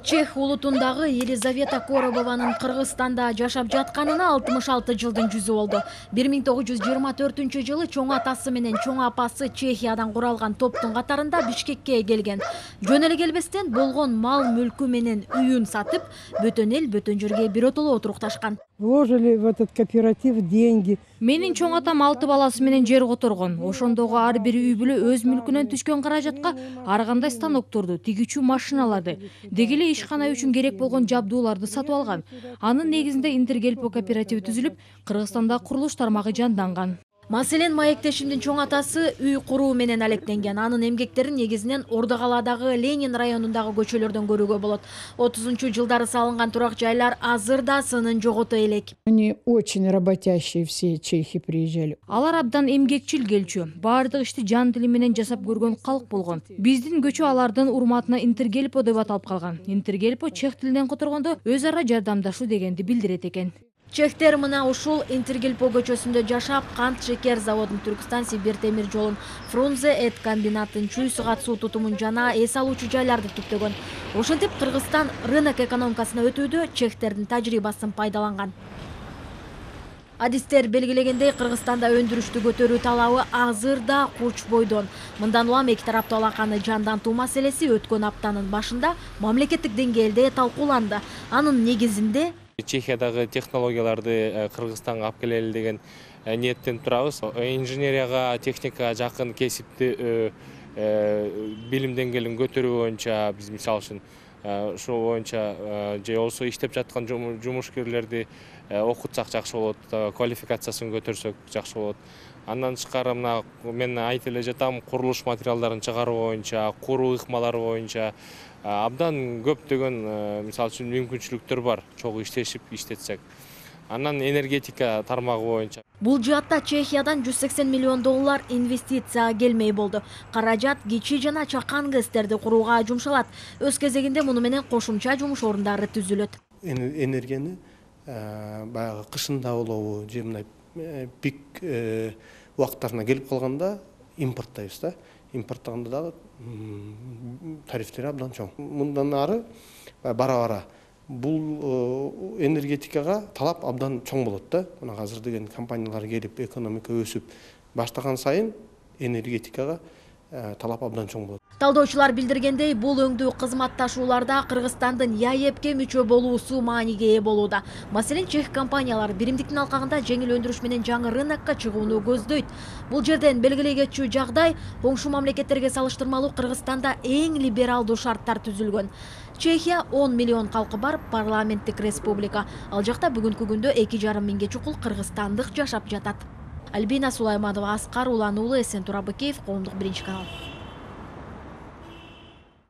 Чех улутундагы Елизавета Коробованын Кыргызстанда жашап жатканына 66 жылдын жүзү болду. 1924 чоң атасы менен чоң апасы Чехиядан куралган топтун катарында Бишкекке келген. Жөн эле келбестен болгон мал мүлкү менен үйүн сатып, бөтөн эл бөтөн жерге биротоло отурукташкан. Вложили в этот кооператив деньги. Менин чоң атам 6 баласы менен жер которгон. Ошондогу ар бир үй бүлө өз мүлкүнөн түшкөн каражатка ар кандай станокторду, тигүүчү машиналарды, деги эле ишкана үчүн керек болгон жабдууларды сатып алган. Анын негизинде Интергельпо кооперативи түзүлүп, Кыргызстанда курулуш тармагы жанданган. Маселен, маектешимдин чоң атасы үй куруу менен алектенген. Анын эмгектерин негизинен Ордокалаадагы Ленин районундагы көчөлөрдөн көрүүгө болот. 30-жылдары салынган турак жайлар азыр да сынын жогото элек. Они очень работящие, все чехи приезжали. Алар абдан эмгекчил келчү. Баардык ишти жан тили менен жасап көргөн калк болгон. Биздин көчө алардын урматына Интергельпо деп аталып калган. Интергельпо чех тилинен которгондо өз ара жардамдашуу дегенди билдирет экен. Чехтер мына ушул Интергельпо көчөсүндө жашап, кант шекер заводун, Түркстан Сибир темир жолун, Фрунзе эт комбинатын, чүй сугат суу тутумун жана эс алуучу жайларды түптөгөн. Ошентип Кыргызстан рынок экономикасына өтүүдө чехтердин тажрыйбасын пайдаланган. Адистер белгилегендей, Кыргызстанда өндүрүштү көтөрүү талабы азыр да куч бойдон. Мындан улам эки тараптуу алаканы жандантуу маселеси өткөн аптанын башында мамлекеттик деңгээлде талкууланды. Анын негизинде Чехиядагы технологияларды Кыргызстанга алып келели деген ниеттен турабыз. Инженерияга, техникага жакын кесипти билим деңгээлин көтөрүү боюнча биз мисалы үчүн ошол боюнча же болбосо иштеп жаткан жумушкерлерди окутсак жакшы болот, квалификациясын көтөрсөк жакшы болот. Андан тышкары мына мен айтып эле жатам, курулуш материалдарын чыгаруу боюнча, куруу ыкмалары боюнча абдан көптөгөн мисалы үчүн мүмкүнчүлүктөр бар, чогуу иштетсек. Анан энергетика тармагы боюнча. Бул жаатта Чехиядан 180 миллион доллар инвестиция келмей болду. Каражат кичи жана чакан ГЭСтерди курууга жумшалат. Өз кезегинде муну менен кошумча жумуш орундары түзүлөт. Энергияны баягы кышында болобу, же мындай пик убакыттарына келип калганда импорттайбыз да. Импорттаганда дагы тарифтери абдан чоң. Мындан ары бара-бара бул энергетикага талап абдан чоң болот да. Мына азыр деген компаниялар келип, экономика өсүп баштаган сайын энергетикага талап абдан чоң болот. Талдоочулар билдиргендей, бул өңдүү кызматташууларда Кыргызстандын ЯЭПке мүчө болуусу мааниге ээ болууда. Маселен, чех компаниялар биримдиктин алкагында жеңил өндүрүш менен жаңы рынокко чыгууну көздөйт. Бул жерден белгилей кетчү жагдай, коңшу мамлекеттерге салыштырмалуу Кыргызстанда эң либералдуу шарттар түзүлгөн. Чехия 10 миллион калкы бар парламенттик республика. Ал жакта бүгүнкү күндө 2,5 миңге чукул кыргызстандык жашап жатат. Альбина Сулайманова, Аскар Улан уулу, Эсен Турабыкеев, Коомдук биринчи канал.